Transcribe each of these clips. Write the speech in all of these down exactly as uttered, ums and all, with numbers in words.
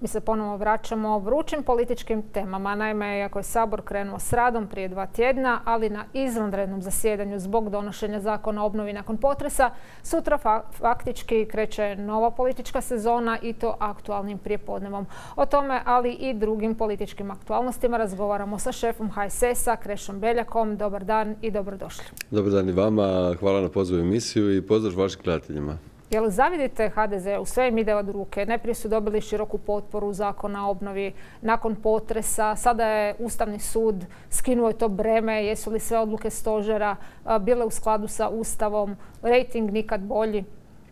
Mi se ponovo vraćamo vrućim političkim temama. Naime, iako je Sabor krenuo s radom prije dva tjedna, ali na izvanrednom zasjedanju zbog donošenja zakona o obnovi nakon potresa, sutra fa faktički kreće nova politička sezona i to aktualnim prijepodnevom. O tome, ali i drugim političkim aktualnostima razgovaramo sa šefom H S S-a, Krešom Beljakom. Dobar dan i dobrodošli. Dobar dan i vama. Hvala na pozivu emisiju i pozdrav vašim gledateljima. Jel zavidite H D Z-u? Sve im ide od ruke. Najprije su dobili široku potporu zakona o obnovi nakon potresa. Sada je Ustavni sud skinuo to breme. Jesu li sve odluke stožera bile u skladu sa Ustavom? Rejting nikad bolji.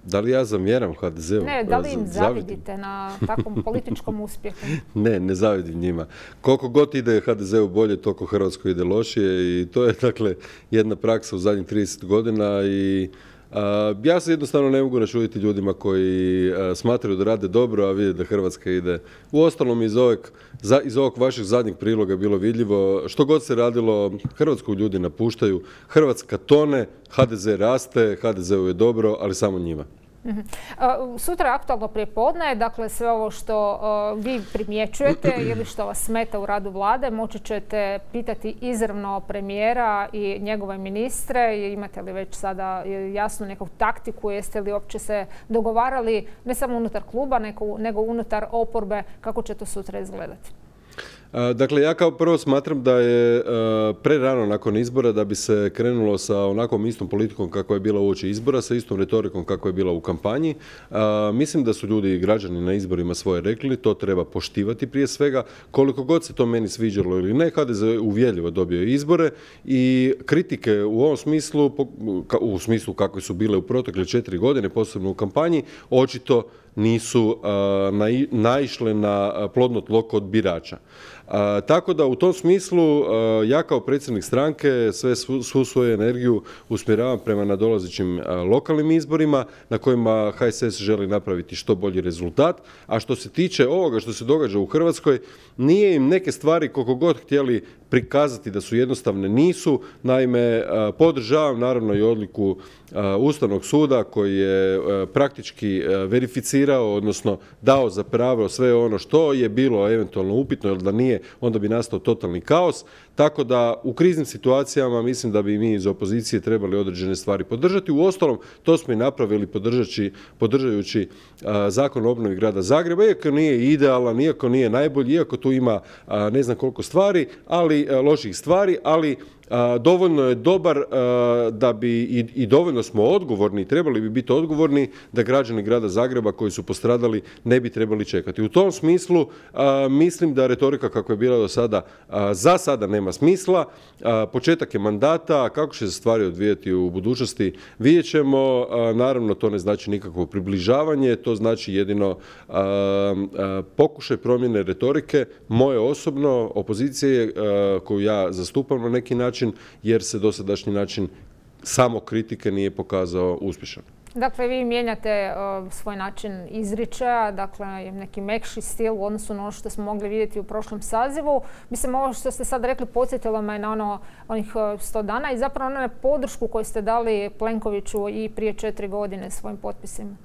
Da li ja zamjeram H D Z-u? Ne, da li im zavidite na takvom političkom uspjehu? Ne, ne zavidim njima. Koliko god ide H D Z-u bolje, toliko Hrvatskoj ide lošije i to je dakle jedna praksa u zadnjih trideset godina i Uh, ja se jednostavno ne mogu načuditi ljudima koji uh, smatraju da rade dobro, a vide da Hrvatska ide. Uostalom iz ovog, za, iz ovog vašeg zadnjeg priloga je bilo vidljivo što god se radilo, Hrvatsku ljudi napuštaju, Hrvatska tone, H D Z raste, H D Z-u je dobro, ali samo njima. Uh-huh. Uh, sutra je aktualno prijepodne, dakle sve ovo što uh, vi primjećujete ili što vas smeta u radu vlade moći ćete pitati izravno premijera i njegove ministre. Imate li već sada jasnu neku taktiku, jeste li uopće se dogovarali ne samo unutar kluba nego, nego unutar oporbe, kako će to sutra izgledati? Dakle, ja kao prvo smatram da je prerano nakon izbora da bi se krenulo sa onakvom istom politikom kako je bila uoči izbora, sa istom retorikom kako je bila u kampanji. Mislim da su ljudi i građani na izborima svoje rekli, to treba poštivati prije svega. Koliko god se to meni sviđalo ili ne, H D Z uvjerljivo dobio izbore i kritike u ovom smislu, u smislu kako su bile u protekle četiri godine, posebno u kampanji, očito nisu uh, nai, naišle na plodno tlo kod birača. Uh, tako da u tom smislu uh, ja kao predsjednik stranke sve svu, svu svoju energiju usmjeravam prema nadolazećim uh, lokalnim izborima na kojima H S S želi napraviti što bolji rezultat. A što se tiče ovoga što se događa u Hrvatskoj, nije im neke stvari koliko god htjeli prikazati da su jednostavne, nisu. Naime, uh, podržavam naravno i odluku uh, Ustavnog suda koji je uh, praktički uh, verificirao, odnosno dao za pravo sve ono što je bilo eventualno upitno, jer da nije, onda bi nastao totalni kaos. Tako da u kriznim situacijama mislim da bi mi iz opozicije trebali određene stvari podržati. Uostalom, to smo i napravili podržajući, podržajući uh, zakon o obnovi grada Zagreba, iako nije idealan, iako nije najbolji, iako tu ima uh, ne znam koliko stvari, ali uh, loših stvari, ali A, dovoljno je dobar a, da bi i, i dovoljno smo odgovorni, trebali bi biti odgovorni da građani grada Zagreba koji su postradali ne bi trebali čekati. U tom smislu a, mislim da retorika kako je bila do sada a, za sada nema smisla. A, početak je mandata, kako će se stvari odvijati u budućnosti vidjet ćemo. A, naravno to ne znači nikakvo približavanje, to znači jedino a, a, pokušaj promjene retorike moje osobno, opozicije a, koju ja zastupam na neki način, jer se dosadašnji način samo kritike nije pokazao uspješan. Dakle, vi mijenjate uh, svoj način izričaja, dakle neki mekši stil u odnosu na ono što smo mogli vidjeti u prošlom sazivu. Mislim, ovo što ste sad rekli podsjetilo me na ono, onih sto dana i zapravo na podršku koju ste dali Plenkoviću i prije četiri godine svojim potpisima.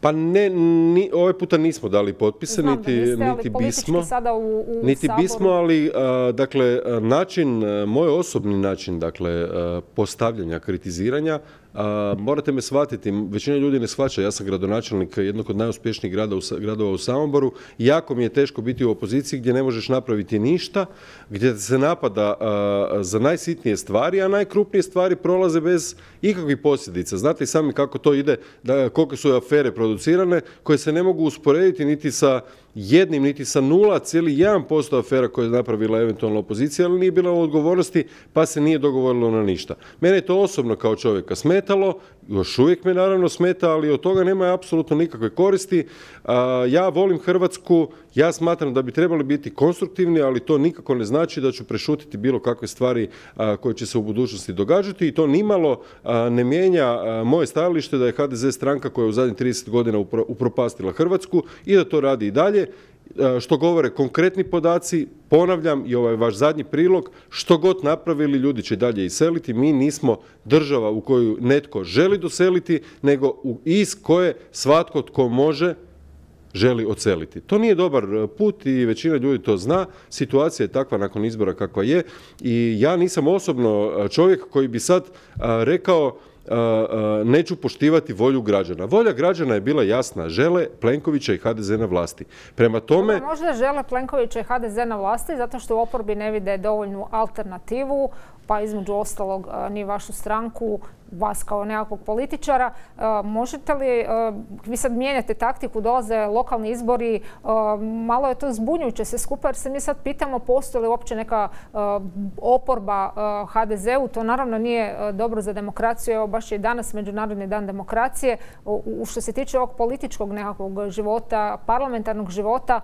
Pa ne, ni, ovaj puta nismo dali potpise, Znam niti, niste, niti bismo. Sada u, u niti Saboru. bismo, ali a, dakle, način, moj osobni način dakle, a, postavljanja, kritiziranja, a, morate me shvatiti, većina ljudi ne shvaća, ja sam gradonačelnik jednog od najuspješnijih grada u, gradova u Samoboru, jako mi je teško biti u opoziciji gdje ne možeš napraviti ništa, gdje se napada a, za najsitnije stvari, a najkrupnije stvari prolaze bez ikakvih posljedica. Znate i sami kako to ide, da, koliko su afere producirane, koje se ne mogu usporediti niti sa jednim, niti sa nula zarez jedan posto afera koje je napravila eventualno opozicija, ali nije bila u odgovornosti, pa se nije dogovorilo na ništa. Mene je to osobno kao čovjeka smetalo, još uvijek me naravno smeta, ali od toga nema apsolutno nikakve koristi. Ja volim Hrvatsku, ja smatram da bi trebali biti konstruktivni, ali to nikako ne znači da ću prešutiti bilo kakve stvari koje će se u budućnosti događati i to nimalo ne mijenja moje stajalište da je H D Z stranka koja je u zadnjih trideset godina upropastila Hrvatsku i da to radi i dalje. Što govore konkretni podaci, ponavljam i ovaj vaš zadnji prilog, što god napravili ljudi će dalje iseliti. Mi nismo država u koju netko želi doseliti, nego iz koje svatko tko može želi odseliti. To nije dobar put i većina ljudi to zna. Situacija je takva nakon izbora kakva je i ja nisam osobno čovjek koji bi sad rekao neću poštivati volju građana. Volja građana je bila jasna. Žele Plenkovića i ha de ze na vlasti. Prema tome... Možda žele Plenkovića i ha de ze na vlasti zato što u oporbi ne vide dovoljnu alternativu, pa između ostalog ni vašu stranku, vas kao nekakvog političara. Možete li, vi sad mijenjate taktiku, dolaze lokalni izbori, malo je to zbunjujuće sve skupa jer se mi sad pitamo postoji li uopće neka oporba ha de zeu. To naravno nije dobro za demokraciju. Evo baš je danas Međunarodni dan demokracije. U što se tiče ovog političkog nekakvog života, parlamentarnog života,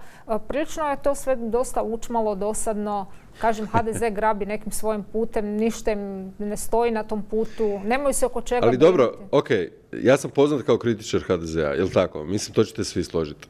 prilično je to sve dosta učmalo, dosadno. Kažem, ha de ze grabi nekim svojim putem, ništa im ne stoji na tom putu, nemaju se oko čega Ali dobro, ok, ja sam poznat kao kritičar ha de zea, jel tako? Mislim, to ćete svi složiti.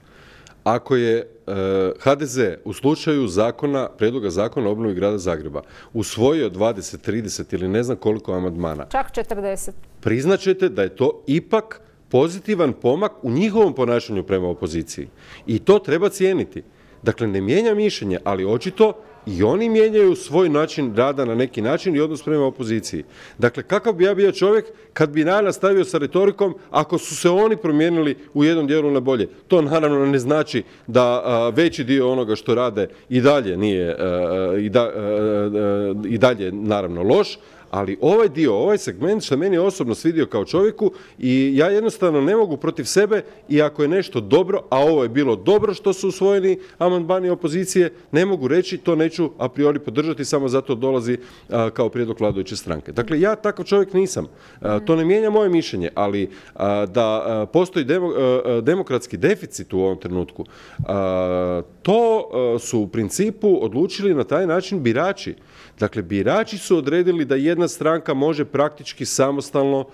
Ako je uh, ha de ze u slučaju zakona, prijedloga zakona o obnovi grada Zagreba usvojio dvadeset, trideset ili ne znam koliko amandmana. Čak četrdeset. Priznaćete da je to ipak pozitivan pomak u njihovom ponašanju prema opoziciji. I to treba cijeniti. Dakle, ne mijenja mišljenje, ali očito i oni mijenjaju svoj način rada na neki način i odnos prema opoziciji. Dakle, kakav bi ja bio čovjek kad bi ja nastavio sa retorikom ako su se oni promijenili u jednom dijelu na bolje? To naravno ne znači da a, veći dio onoga što rade i dalje nije a, i, da, a, i dalje naravno loš, ali ovaj dio, ovaj segment što meni je osobno svidio kao čovjeku i ja jednostavno ne mogu protiv sebe i ako je nešto dobro, a ovo je bilo dobro što su usvojeni amandmani opozicije, ne mogu reći to neću a priori podržati, samo zato dolazi a, kao prijedlog vladajuće stranke. Dakle, ja takav čovjek nisam. A, to ne mijenja moje mišljenje, ali a, da a, postoji demo, a, demokratski deficit u ovom trenutku, a, to a, su u principu odlučili na taj način birači. Dakle, birači su odredili da jedna stranka može praktički samostalno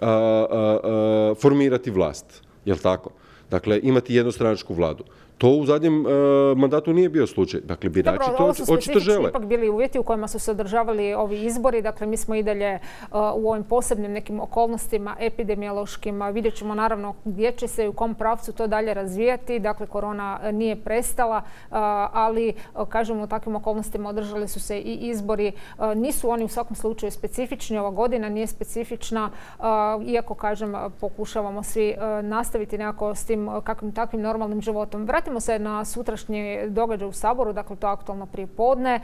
a, a, a, formirati vlast. Jel' tako? Dakle, imati jednostranačku vladu. To u zadnjem uh, mandatu nije bio slučaj. Dakle, birači Dobro, to očito žele. Ovo su specifični ipak bili uvjeti u kojima su se održavali ovi izbori. Dakle, mi smo i dalje uh, u ovim posebnim nekim okolnostima epidemiološkim. Vidjet ćemo naravno gdje će se i u kom pravcu to dalje razvijati. Dakle, korona nije prestala, uh, ali uh, kažemo u takvim okolnostima održali su se i izbori. Uh, nisu oni u svakom slučaju specifični. Ova godina nije specifična. Uh, iako, kažem, pokušavamo svi uh, nastaviti nekako s tim uh, kakvim takvim normalnim životom. Vratimo se na sutrašnji događaj u Saboru, dakle to je aktualno prije podne.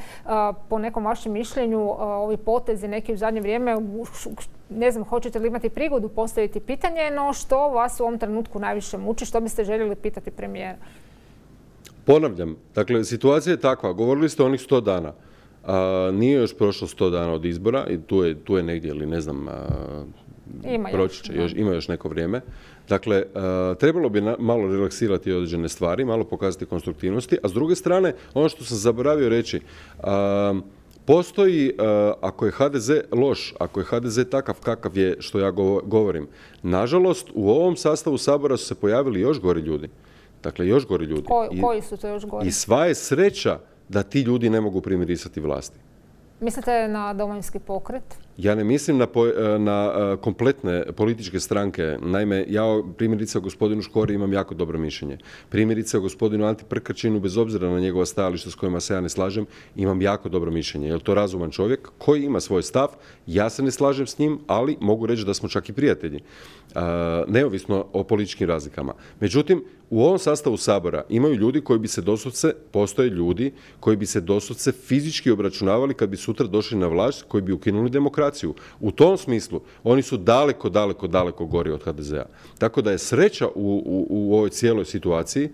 Po nekom vašem mišljenju, ovi potezi neki u zadnje vrijeme, ne znam, hoćete li imati prigodu postaviti pitanje, no što vas u ovom trenutku najviše muči, što biste željeli pitati premijera? Ponavljam, dakle, situacija je takva, govorili ste o onih sto dana. A, nije još prošlo sto dana od izbora i tu je, tu je negdje, ili ne znam, a, ima, proći će, još, ima još neko vrijeme. Dakle, uh, trebalo bi na, malo relaksirati određene stvari, malo pokazati konstruktivnosti, a s druge strane, ono što sam zaboravio reći, uh, postoji, uh, ako je ha de ze loš, ako je ha de ze takav kakav je, što ja govorim, nažalost, u ovom sastavu Sabora su se pojavili još gori ljudi. Dakle, još gori ljudi. Ko, koji su to još gori? I sva je sreća da ti ljudi ne mogu primirisati vlasti. Mislite na Domovinski pokret? Ja ne mislim na, po, na kompletne političke stranke. Naime, ja primjerice o gospodinu Škori imam jako dobro mišljenje. Primjerice o gospodinu Anti Prkačinu, bez obzira na njegova stajališta s kojima se ja ne slažem, imam jako dobro mišljenje. Je to razuman čovjek koji ima svoj stav, ja se ne slažem s njim, ali mogu reći da smo čak i prijatelji. Uh, neovisno o političkim razlikama. Međutim, u ovom sastavu Sabora imaju ljudi koji bi se doslovce, postoje ljudi koji bi se doslovce fizički obračunavali kad bi sutra došli na vlast, koji bi ukinuli demokraciju. U tom smislu, oni su daleko, daleko, daleko gori od ha de zea. Tako da je sreća u, u, u ovoj cijeloj situaciji,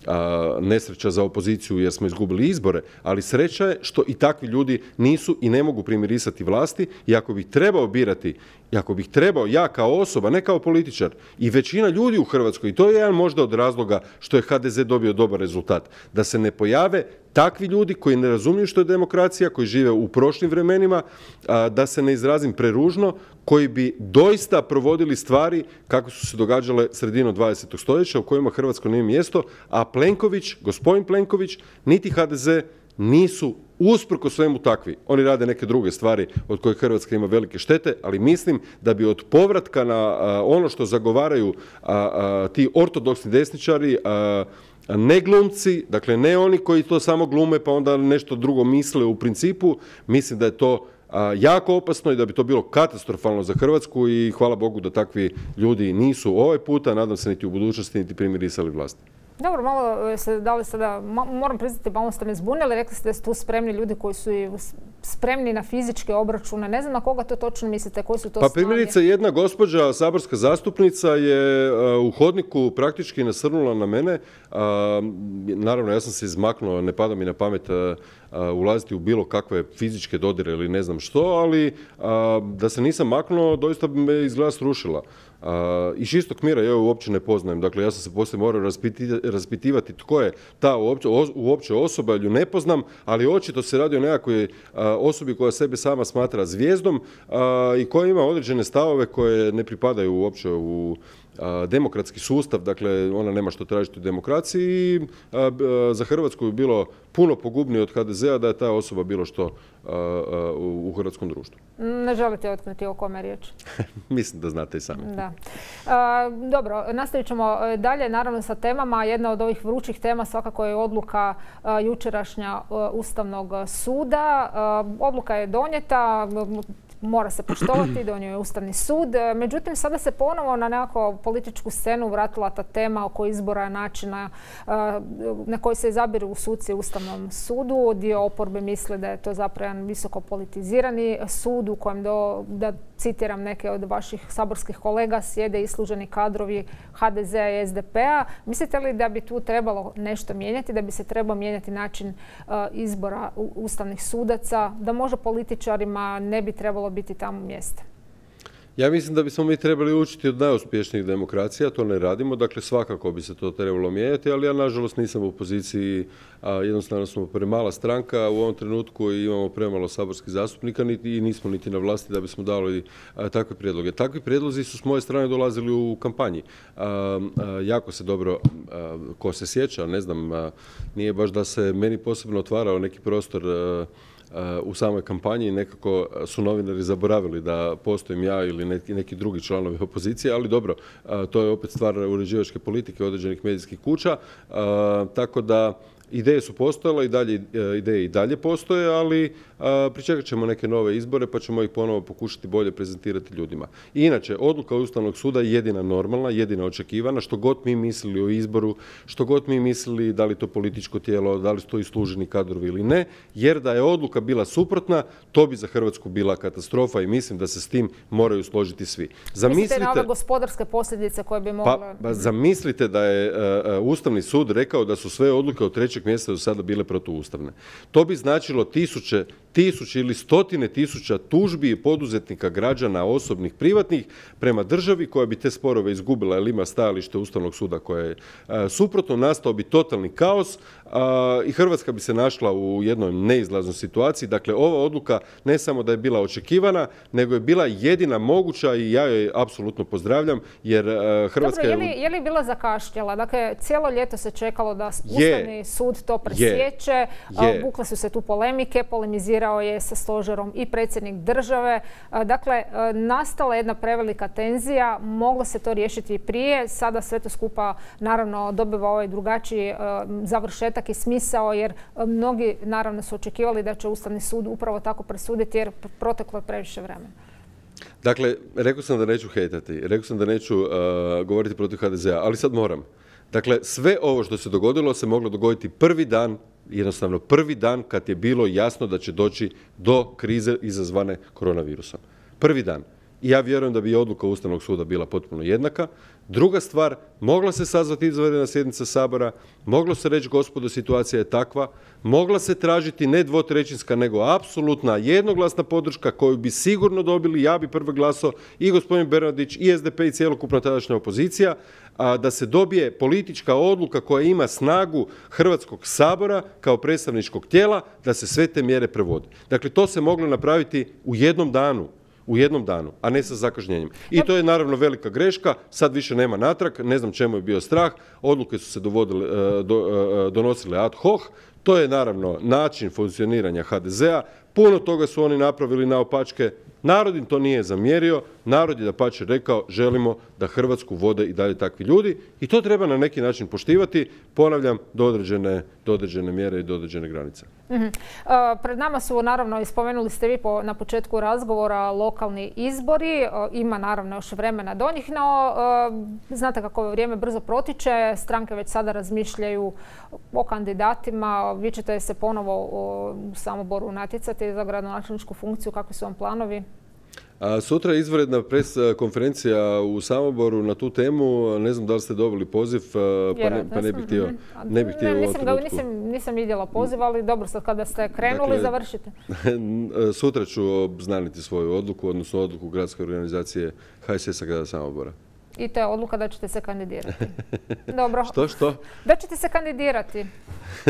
a, nesreća za opoziciju jer smo izgubili izbore, ali sreća je što i takvi ljudi nisu i ne mogu primirisati vlasti i ako bih trebao birati, i ako bih trebao ja kao osoba, ne kao političar, i većina ljudi u Hrvatskoj, i to je jedan možda od razloga što je ha de ze dobio dobar rezultat, da se ne pojave takvi ljudi koji ne razumiju što je demokracija, koji žive u prošlim vremenima, a, da se ne izrazim preružno, koji bi doista provodili stvari kako su se događale sredinom dvadesetog stoljeća u kojima Hrvatsko nije mjesto, a Plenković, gospodin Plenković, niti ha de ze nisu usprko svemu takvi. Oni rade neke druge stvari od kojih Hrvatska ima velike štete, ali mislim da bi od povratka na a, ono što zagovaraju a, a, ti ortodoksni desničari, a, ne glumci, dakle ne oni koji to samo glume pa onda nešto drugo misle u principu. Mislim da je to a, jako opasno i da bi to bilo katastrofalno za Hrvatsku i hvala Bogu da takvi ljudi nisu ovaj puta, nadam se niti u budućnosti, niti primirisali vlasti. Dobro, malo se dali sada, moram priznati, malo ste me zbunili, rekli ste da su tu spremni ljudi koji su i spremni na fizičke obračune. Ne znam na koga to točno mislite, koji su to Pa snage? primjerice, jedna gospođa, saborska zastupnica, je uh, u hodniku praktički nasrnula na mene. Uh, naravno, ja sam se izmaknuo, ne pada mi na pamet uh, uh, ulaziti u bilo kakve fizičke dodire ili ne znam što, ali uh, da se nisam maknuo, doista bi me izgleda srušila. Uh, iz čistog mira ja ju uopće ne poznajem. Dakle, ja sam se poslije morao raspiti, raspitivati tko je ta uopće, uopće osoba, jer ju ne poznam, ali očito se radi o nekakvoj uh, osobi koja sebe sama smatra zvijezdom uh, i koja ima određene stavove koje ne pripadaju uopće u demokratski sustav, dakle ona nema što tražiti u demokraciji i za Hrvatsku bi bilo puno pogubnije od H D Z-a da je ta osoba bilo što u hrvatskom društvu. Ne želite otkriti o kome je riječ? Mislim da znate i sami. Da. A, dobro, nastavit ćemo dalje naravno sa temama. Jedna od ovih vrućih tema svakako je odluka a, jučerašnja a, Ustavnog suda. A, odluka je donijeta, mora se poštovati, donio je Ustavni sud. Međutim, sada se ponovo na nekako političku scenu vratila ta tema oko izbora načina na koji se izabiru suci u Ustavnom sudu. Dio oporbe misli da je to zapravo jedan visoko politizirani sud u kojem, do, da citiram neke od vaših saborskih kolega, sjede isluženi kadrovi H D Z-a i S D P-a. Mislite li da bi tu trebalo nešto mijenjati, da bi se trebao mijenjati način izbora ustavnih sudaca, da možda političarima ne bi trebalo biti tamo mjesta? Ja mislim da bismo mi trebali učiti od najuspješnijih demokracija, to ne radimo, dakle svakako bi se to trebalo mijenjati, ali ja nažalost nisam u poziciji, a, jednostavno smo premala stranka u ovom trenutku i imamo premalo saborskih zastupnika niti, i nismo niti na vlasti da bismo dali a, takve prijedloge. Takvi prijedlozi su s moje strane dolazili u kampanji. A, a, jako se dobro, a, ko se sjeća, ne znam, a, nije baš da se meni posebno otvarao neki prostor a, u samoj kampanji, nekako su novinari zaboravili da postojim ja ili neki, neki drugi članovi opozicije, ali dobro, to je opet stvar uređivačke politike određenih medijskih kuća, tako da ideje su postojale i dalje, ideje i dalje postoje, ali a, pričekat ćemo neke nove izbore pa ćemo ih ponovo pokušati bolje prezentirati ljudima. I inače, odluka Ustavnog suda je jedina normalna, jedina očekivana, što god mi mislili o izboru, što god mi mislili da li to političko tijelo, da li su to isluženi kadrovi ili ne, jer da je odluka bila suprotna, to bi za Hrvatsku bila katastrofa i mislim da se s tim moraju složiti svi. Zamislite, mislite na ove gospodarske posljedice koje bi mogle... Pa, pa zamislite da je uh, Ustavni sud rekao da su sve odluke od trećeg mjeseca do sada bile protuustavne. To bi značilo tisuće, tisuće ili stotine tisuća tužbi i poduzetnika, građana, osobnih, privatnih, prema državi koja bi te sporove izgubila jer ima stajalište Ustavnog suda koje je uh, suprotno, nastao bi totalni kaos uh, i Hrvatska bi se našla u jednoj neizlaznoj situaciji. Dakle, ova odluka ne samo da je bila očekivana, nego je bila jedina moguća i ja joj apsolutno pozdravljam, jer uh, Hrvatska... Dobro, je li, je li bila zakašnjela? Dakle, cijelo ljeto se čekalo da Ustavni je, sud to presjeće, je, je. Bukle su se tu polemike, polemizirao je sa stožerom i predsjednik države. Dakle, nastala jedna prevelika tenzija, moglo se to riješiti i prije, sada sve to skupa naravno dobiva ovaj drugačiji završetak i smisao, jer mnogi naravno su očekivali da će Ustavni sud upravo tako presuditi jer proteklo je previše vremena. Dakle, rekao sam da neću hejtati, rekao sam da neću uh, govoriti protiv H D Z-a, ali sad moram. Dakle, sve ovo što se dogodilo se moglo dogoditi prvi dan, jednostavno prvi dan kad je bilo jasno da će doći do krize izazvane koronavirusom. Prvi dan. I ja vjerujem da bi odluka Ustavnog suda bila potpuno jednaka. Druga stvar, mogla se sazvati izvanredna sjednica Sabora, moglo se reći gospodo situacija je takva, mogla se tražiti ne dvotrećinska nego apsolutna jednoglasna podrška koju bi sigurno dobili, ja bi prvi glasao i gospodin Bernardić i S D P i cjelokupna tadašnja opozicija, a da se dobije politička odluka koja ima snagu Hrvatskog sabora kao predstavničkog tijela da se sve te mjere provode. Dakle, to se moglo napraviti u jednom danu. U jednom danu, a ne sa zakašnjenjem. I to je naravno velika greška, sad više nema natrag, ne znam čemu je bio strah, odluke su se dovodile, do, donosile ad hoc, To je naravno način funkcioniranja ha de zea. Puno toga su oni napravili naopačke. Narod im to nije zamjerio. Narod je dapače rekao želimo da Hrvatsku vode i dalje takvi ljudi i to treba na neki način poštivati. Ponavljam, do određene, do određene mjere i do određene granice. Mm-hmm. uh, pred nama su, naravno, spomenuli ste vi po, na početku razgovora, lokalni izbori. Uh, ima naravno još vremena do njih, no uh, znate kako ovo vrijeme brzo protiče. Stranke već sada razmišljaju o kandidatima. Vi ćete se ponovo u Samoboru natjecati za gradonačelničku funkciju. Kakvi su vam planovi? A sutra je izvanredna pres konferencija u Samoboru na tu temu. Ne znam da li ste dobili poziv, pa ne, pa ne bih htio, ne bih htio ne, u nisam, ovom ga, nisam, nisam vidjela poziv, ali dobro, sad kada ste krenuli, dakle, završite. Sutra ću obznaniti svoju odluku, odnosno odluku gradske organizacije ha es es a grada Samobora. I to je odluka da ćete se kandidirati. Dobro. Što, što? Da ćete se kandidirati.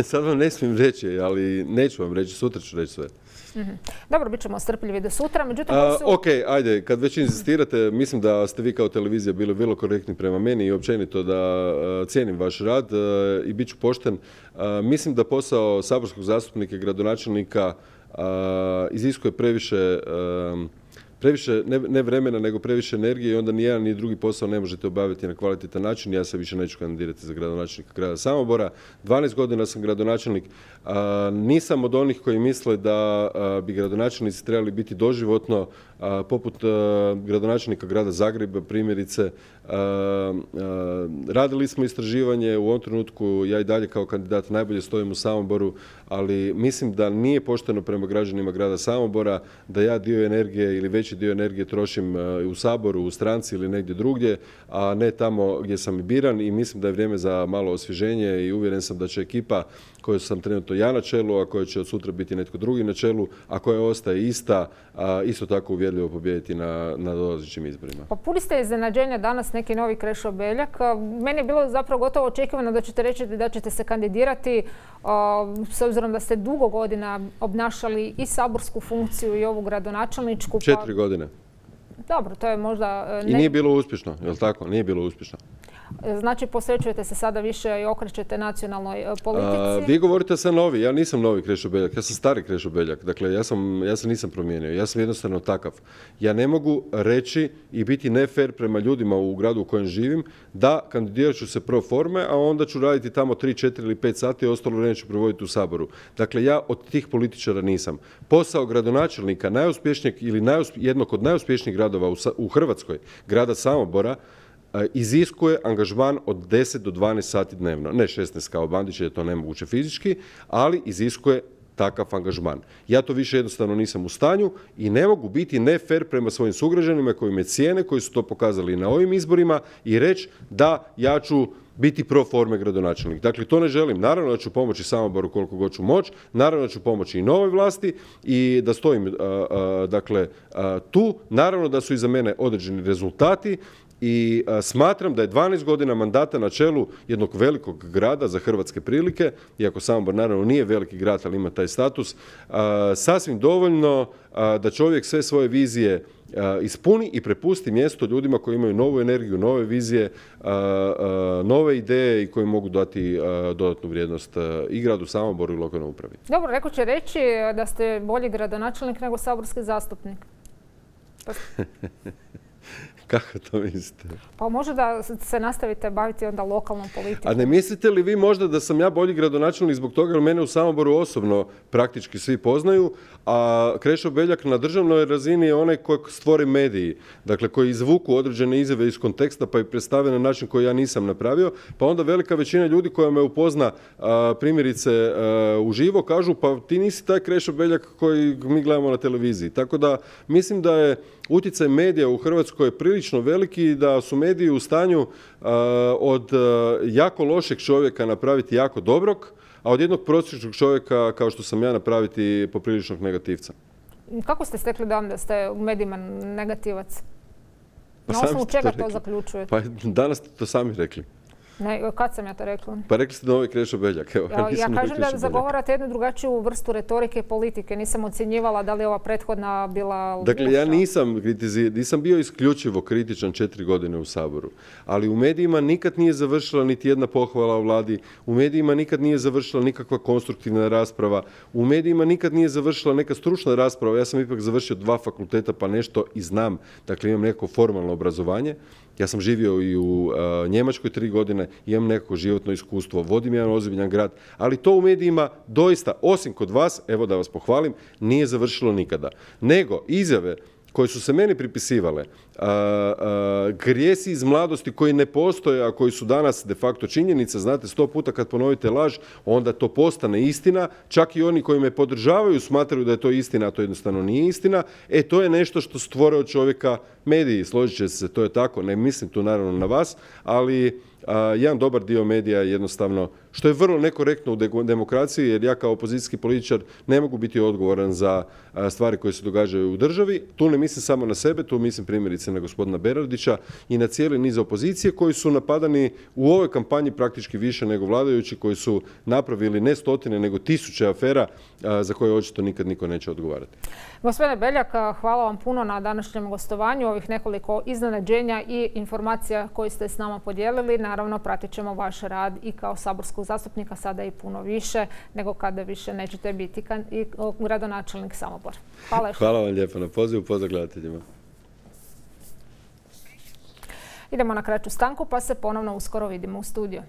Sad vam ne smijem reći, ali neću vam reći, sutra ću reći sve. Mm-hmm. Dobro, bit ćemo strpljivi do sutra. Međutim, A, su... Ok, ajde, kad već insistirate, mislim da ste vi kao televizija bili vrlo korektni prema meni i općenito da uh, cijenim vaš rad uh, i bit ću pošten. Uh, mislim da posao saborskog zastupnika i gradonačelnika uh, iziskuje previše... Uh, Previše, ne, ne vremena, nego previše energije i onda ni jedan ni drugi posao ne možete obaviti na kvalitetan način. Ja se više neću kandidirati za gradonačelnika grada Samobora. dvanaest godina sam gradonačelnik. A, nisam od onih koji misle da a, bi gradonačelnici trebali biti doživotno, a, poput a, gradonačelnika grada Zagreba, primjerice. A, a, radili smo istraživanje, u ovom trenutku ja i dalje kao kandidat najbolje stojim u Samoboru, ali mislim da nije pošteno prema građanima grada Samobora da ja dio energije ili veći dio energije trošim u Saboru, u stranci ili negdje drugdje, a ne tamo gdje sam i biran i mislim da je vrijeme za malo osvježenje i uvjeren sam da će ekipa koju sam trenutno ja na čelu, a koja će od sutra biti netko drugi na čelu, a koja ostaje ista, a isto tako uvjerljivo pobijediti na, na dolazećim izborima. Pa puni ste iznenađenja danas neki novi Krešo Beljak. Meni je bilo zapravo gotovo očekivano da ćete reći da ćete se kandidirati s obzirom da ste dugo godina obnašali i saborsku funkciju i ovu gradonačelničku. Četiri godine. Dobro, to je možda... Ne... I nije bilo uspješno, je li tako? Nije bilo uspješno. Znači, posvećujete se sada više i okrećete nacionalnoj politici? A, vi govorite sa novi, ja nisam novi Krešo Beljak, ja sam stari Krešo Beljak, dakle ja, sam, ja se nisam promijenio, ja sam jednostavno takav. Ja ne mogu reći i biti nefer prema ljudima u gradu u kojem živim da kandidirat ću se pro forme, a onda ću raditi tamo tri, četiri ili pet sati, a ostalo vrijeme ću provoditi u Saboru. Dakle, ja od tih političara nisam. Posao gradonačelnika najuspješnijeg ili najuspje, jednog od najuspješnijih gradova u, u Hrvatskoj, grada Samobora, iziskuje angažman od deset do dvanaest sati dnevno. Ne šesnaest kao Bandić, je to nemoguće fizički, ali iziskuje takav angažman. Ja to više jednostavno nisam u stanju i ne mogu biti nefer prema svojim sugrađanima koji me cijene, koji su to pokazali na ovim izborima i reći da ja ću biti pro forme gradonačelnik. Dakle, to ne želim. Naravno da ću pomoći Samoboru koliko god ću moći, naravno da ću pomoći i novoj vlasti i da stojim a, a, dakle, a, tu. Naravno da su iza mene određeni rezultati i a, smatram da je dvanaest godina mandata na čelu jednog velikog grada za hrvatske prilike, iako Samobor naravno nije veliki grad, ali ima taj status, a, sasvim dovoljno a, da čovjek sve svoje vizije a, ispuni i prepusti mjesto ljudima koji imaju novu energiju, nove vizije, a, a, nove ideje i koji mogu dati a, dodatnu vrijednost a, i gradu Samoboru i lokalnoj upravi. Dobro, neko će reći da ste bolji gradonačelnik nego saborski zastupnik. Kako to mislite? Pa može da se nastavite baviti onda lokalnom politikom. A ne mislite li vi možda da sam ja bolji gradonačelnik zbog toga jer mene u Samoboru osobno praktički svi poznaju, a Krešo Beljak na državnoj razini je onaj koji stvori mediji, dakle koji izvuku određene izjave iz konteksta pa i predstave na način koji ja nisam napravio, pa onda velika većina ljudi koja me upozna a, primjerice a, uživo kažu pa ti nisi taj Krešo Beljak koji mi gledamo na televiziji. Tako da mislim da je utjecaj medija u Hrvatskoj prilično veliki i da su mediji u stanju uh, od uh, jako lošeg čovjeka napraviti jako dobrog, a od jednog prosječnog čovjeka, kao što sam ja, napraviti popriličnog negativca. Kako ste stekli dojam da ste u medijima negativac? Pa na osnovu čega to, to zaključujete? Pa danas ste to sami rekli. Ne, kad sam ja to rekla? Pa rekli ste novi Krešo Beljak. Evo, ja, ja kažem da zagovarate jednu drugačiju vrstu retorike i politike. Nisam ocjenjivala da li je ova prethodna bila Dakle, loša. ja nisam, kritizi, nisam bio isključivo kritičan četiri godine u Saboru, ali u medijima nikad nije završila niti jedna pohvala o vladi, u medijima nikad nije završila nikakva konstruktivna rasprava, u medijima nikad nije završila neka stručna rasprava. Ja sam ipak završio dva fakulteta pa nešto i znam, dakle imam neko formalno obrazovanje. Ja sam živio i u uh, Njemačkoj tri godine, imam nekako životno iskustvo, vodim jedan ozbiljan grad, ali to u medijima doista, osim kod vas, evo da vas pohvalim, nije završilo nikada. Nego izjave koje su se meni pripisivale, a, a, grijesi iz mladosti koji ne postoje, a koji su danas de facto činjenica, znate, sto puta kad ponovite laž, onda to postane istina, čak i oni koji me podržavaju smatraju da je to istina, a to jednostavno nije istina, e to je nešto što stvore od čovjeka mediji, složit će se, to je tako, ne mislim tu naravno na vas, ali a, jedan dobar dio medija jednostavno, što je vrlo nekorektno u demokraciji, jer ja kao opozicijski političar ne mogu biti odgovoran za a, stvari koje se događaju u državi. Tu ne mislim samo na sebe, tu mislim primjerice na gospodina Bernardića i na cijeli niz opozicije koji su napadani u ovoj kampanji praktički više nego vladajući, koji su napravili ne stotine nego tisuće afera a, za koje očito nikad niko neće odgovarati. Gospodine Beljak, hvala vam puno na današnjem gostovanju, ovih nekoliko iznenađenja i informacija koje ste s nama podijelili. Naravno, pratit ćemo vaš rad i kao saborskog zastupnika sada i puno više nego kada više nećete biti i gradonačelnik Samobora. Hvala. Hvala vam lijepo na pozivu, pozdrav gledateljima. Idemo na kraću stanku pa se ponovno uskoro vidimo u studiju.